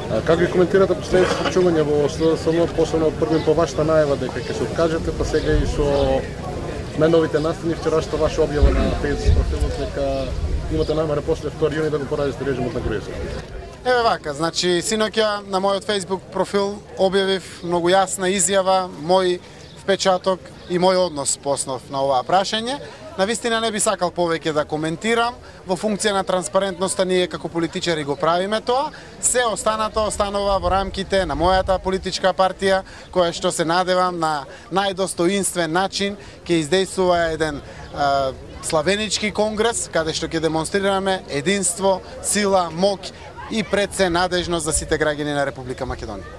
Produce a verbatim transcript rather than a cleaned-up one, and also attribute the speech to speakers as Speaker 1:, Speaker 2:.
Speaker 1: Како ги коментирате последните случувања во СДСМ, посебно првим по вашата најава дека ќе се откажете, па сега и со најновите настани вчерашната ваша објава на Facebook профилот дека имате намера после втори јуни да го поразите режимот на Груевски?
Speaker 2: Еве вака, значи синоќа на мојот Facebook профил објавив многу јасна изјава, мој впечаток и мој однос по основ на оваа прашање. Навистина не би сакал повеќе да коментирам, во функција на транспарентноста ние како политичари го правиме тоа, се останато останува во рамките на мојата политичка партија, која што се надевам на најдостоинствен начин ќе издействува еден а, славенички конгрес, каде што ќе демонстрираме единство, сила, моќ и пред се надежност за сите граѓани на Република Македонија.